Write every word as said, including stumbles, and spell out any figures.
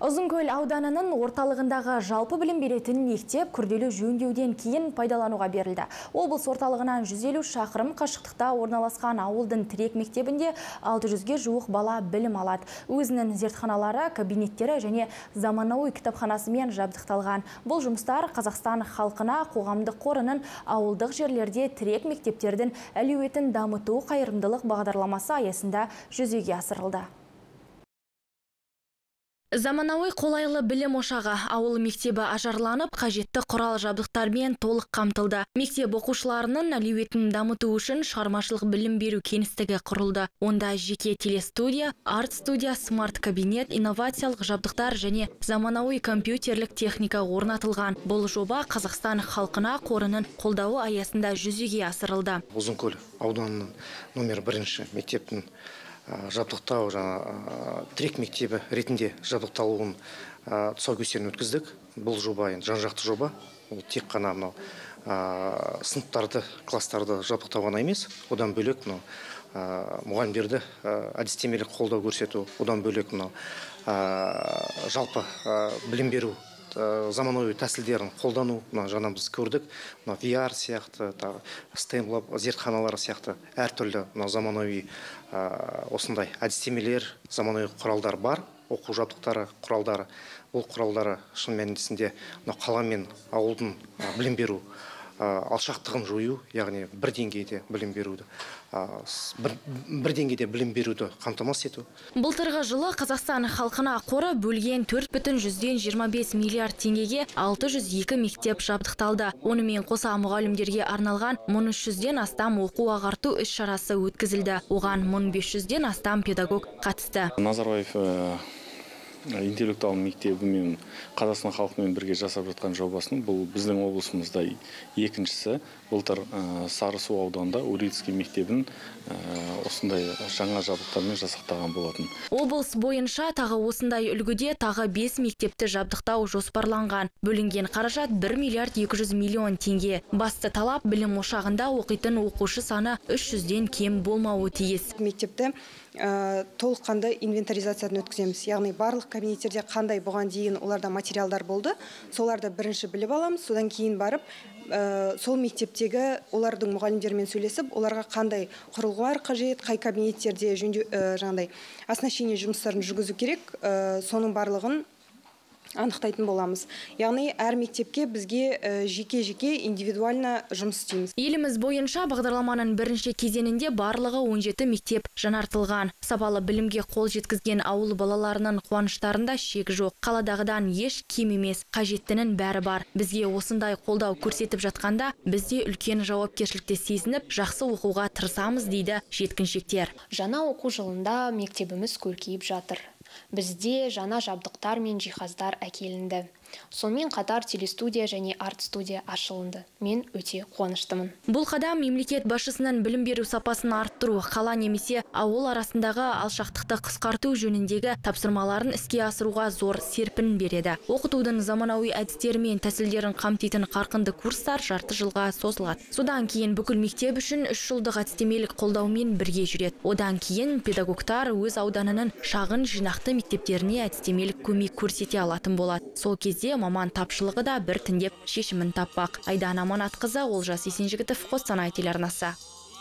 Ұзынкөл ауданының орталығындағы жалпы білім беретін мектеп күрделі жөндеуден кейін пайдалануға берілді. Облыс орталығынан жүз елу шақырым қашықтықта орналасқан ауылдың тірек мектебінде алты жүзге жуық бала білім алады. Өзінің зертханалары, кабинеттері және заманауи кітапханасымен жабдықталған. Бұл жұмыстар Қазақстан халқына қоғамдық қорының ауылдық жерлерде тірек мектептердің әлеуетін дамыту қайырымдылық бағдарламасы аясында жүзеге асырылды. Заманауи қолайлы білім ошағы ауыл мектебі ажарланып, қажетті құрал жабдықтармен толық қамтылды. Мектеп оқушыларының әлеуетін дамыту үшін шығармашылық білім беру кеңістігі құрылды. Онда жеке телестудия, арт-студия, смарт-кабинет, инновациялық жабдықтар және заманауи компьютерлік техника орнатылған. Бұл жоба Қазақстан халқына қорының қолдауы аясында жүзеге асырылды. Ұзынкөл ауданының номер бірінші мектептің жабдықтау жаңа тірек мектебі ретінде жабдықталуын тұсаукесерін өткіздік. Бұл жоба жан-жақты жоба. Ол тек қана мынау сыныптарды, класстарды жабдықтау ғана емес, одан бөлек мынау мұғалімдерді әдістемелік қолдау көрсету, одан бөлек мынау жалпы білім беру заманауи тәсілдерін қолдану, жаңа біз көрдік, ви ар сияқты, стемлаб зертханалары сияқты әртүрлі заманауи осындай әдістемелер, заманауи құралдар бар, оқу жабдықтары, құралдары. Бұл құралдары шын мәнісінде қала мен ауылдың білім беру алшақтығын жою, яғни бір деңгейде білім беруді, бір, бір деңгейде білім беруді қамтамасыз ету. Былтырғы жылы Қазақстан халқына қоры бөлген төрт бүтін жүзден жиырма бес миллиард теңгеге алты жүз екі мектеп жабдықталды. Онымен қоса мұғалімдерге арналған мың үш жүзден астам оқу ағарту іс-шарасы өткізілді. Оған мың бес жүзден астам педагог қатысты. Назарбаев интеллектуал мектебі мен Қазақстан халқымен бірге жасап жатқан жобасының бұл біздің облысымызда екіншісі. Былтыр Сарысу ауданында Урицкий мектебін осындай жаңа жабдықтармен жасақтаған болатын. Облыс бойынша тағы осындай үлгіде тағы бес мектепті жабдықтау жоспарланған. Бөлінген қаражат бір миллиард екі жүз миллион теңге. Басты талап білім ошағында оқитын оқушы саны үш жүзден кем болмауы тиіс. Мектепті толыққанды инвентаризацияны өткіземіз. Яғни барлық кабинеттерде қандай бұған дейін оларда материалдар болды, соларды бірінші біліп аламыз, содан кейін барып сол мектептегі олардың мұғалімдермен сөйлесіп, оларға қандай құрылғылар қажет, қай кабинеттерде жөндеу жаңағыдай оснащение жұмыстарын жүргізу керек, соның барлығын анықтайтын боламыз. Яғни әр мектепке бізге жеке-жеке индивидуально жұмыс істейміз. Еліміз бойынша бағдарламаның бірінші кезеңінде барлығы он жеті мектеп жаңартылған. Сапалы білімге қол жеткізген ауыл балаларының қуаныштарында шек жоқ. Қаладағыдан еш кем емес, қажеттінің бәрі бар. Бізге осындай қолдау көрсетіп жатқанда, бізде үлкен жауапкершілікті сезініп, жақсы оқуға тырысамыз дейді жеткіншектер. Жаңа оқу жылында мектебіміз көркейіп жатыр. Бізде жаңа жабдықтар мен жиһаздар әкелінді. Сонымен қатар телестудия және арт-студия ашылынды. Мен өте қуаныштымын. Бұл қадам мемлекет басшысының білім беру сапасын арттыру, қала немесе ауыл арасындағы алшақтықты қысқарту жөніндегі тапсырмаларын іске асыруға зор серпін береді. Оқытудың заманауи әдістері мен тәсілдерін қамтитын қарқынды курстар жарты жылға созылады. Содан кейін бүкіл мектеп үшін үш жылдық әдістемелік қолдаумен бірге жүреді. Одан кейін педагогтар өз ауданының шағын жинақты мектептеріне әдістемелік көмек көрсете алатын болады. Сол кезде маман тапшылығы да біртіндеп шешімін таппақ. Айдана Аманатқызы, Олжас Есенжігітов, Қостанай телеарнасы.